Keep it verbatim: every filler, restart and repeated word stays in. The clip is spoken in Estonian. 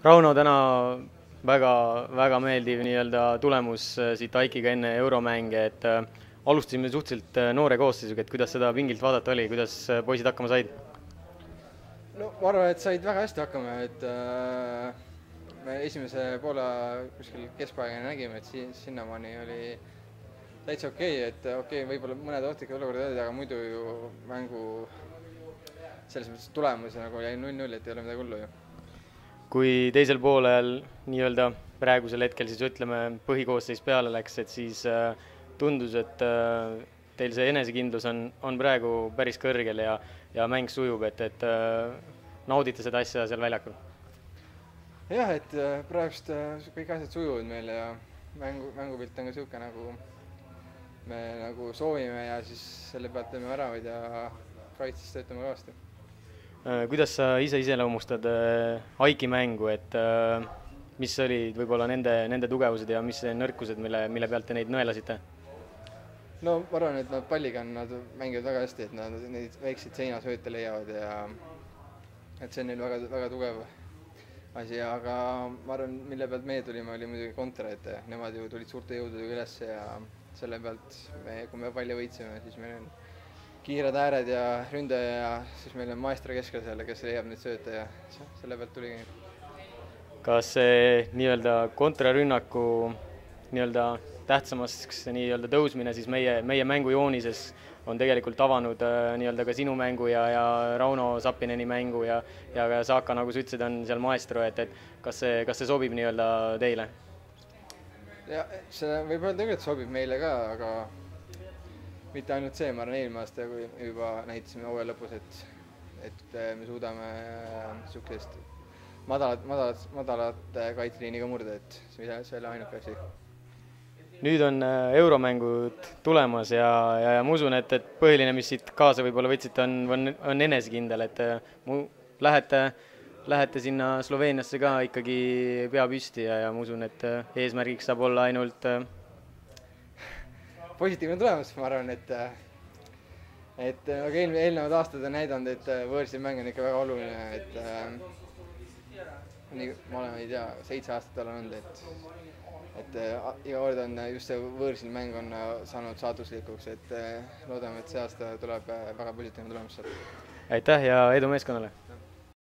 Rauno, täna väga, väga meeldiv nii-öelda tulemus äh, siit Aikiga enne euromänge, et äh, alustasime suhteliselt äh, noore koosseisuga, et kuidas seda pingilt vaadata oli, kuidas äh, poisid hakkama said? No ma arvan, et said väga hästi hakkama, et äh, me esimese poole kuskil keskpaigani nägime, et si sinnamaani oli täitsa okei okay,, et okei okay,, võib-olla mõned ohtlikud olukorrad olid, aga muidu ju mängu selles mõttes tulemus nagu jäi null null, et ei ole midagi hullu ju. Kui teisel poolel nii-öelda praegusel hetkel siis ütleme põhikoosseis peale läks, et siis äh, tundus, et äh, teil see enesekindlus on, on praegu päris kõrgel ja, ja mäng sujub, et, et äh, naudite seda asja seal väljakul? Jah, et äh, praegust äh, kõik asjad sujuvad meil ja mängu, mängupilt on ka niisugune, nagu me nagu soovime ja siis selle pealt teeme väravaid ja kaitses töötame kõvasti. Kuidas sa ise iseloomustad Aiki mängu, et mis olid võib-olla nende, nende tugevused ja mis nõrkused, mille, mille pealt te neid nõelasite? No ma arvan, et nad palliga on, nad mängivad väga hästi, et nad neid väikseid seinasööte leiavad ja et see on neil väga, väga tugev asi, aga ma arvan, mille pealt meie tulime, oli muidugi kontra, et nemad ju tulid suurte jõududega üles ja selle pealt, me, kui me palli võitsime, siis meil on kiired ääred ja ründaja ja siis meil on maestro keskel seal, kes leiab neid sööte ja selle pealt tuligi. Kas see nii-öelda kontrarünnaku nii-öelda tähtsamaks nii-öelda tõusmine siis meie, meie mängujoonises on tegelikult avanud nii-öelda ka sinu mängu ja, ja Rauno Sappineni mängu ja, ja ka Saaka, nagu sa ütlesid, on seal maestro, et, et kas see, kas see sobib nii-öelda teile? Ja see võib öelda tegelikult sobib meile ka, aga mitte ainult see, ma arvan, eelmine aasta, kui juba näitasime hooaja lõpus, et, et me suudame niisugust madalat, madalat, madalat kaitseliiniga murda, et see oli ainuke asi. Nüüd on euromängud tulemas ja, ja, ja ma usun, et, et põhiline, mis siit kaasa võib-olla võtsite, on, on, on enesekindel, et mu, lähete, lähete sinna Sloveeniasse ka ikkagi pea püsti ja, ja ma usun, et eesmärgiks saab olla ainult positiivne tulemus, ma arvan, et et nagu eelmine, eelnevad aastad on näidanud, et võõrsil mäng on ikka väga oluline, et äh, nii, ma olen, ei tea, seitse aastat olen olnud, et et äh, iga kord on just see võõrsil mäng on saanud saatuslikuks, et äh, loodame, et see aasta tuleb väga positiivne tulemus sealt. Aitäh ja edu meeskonnale!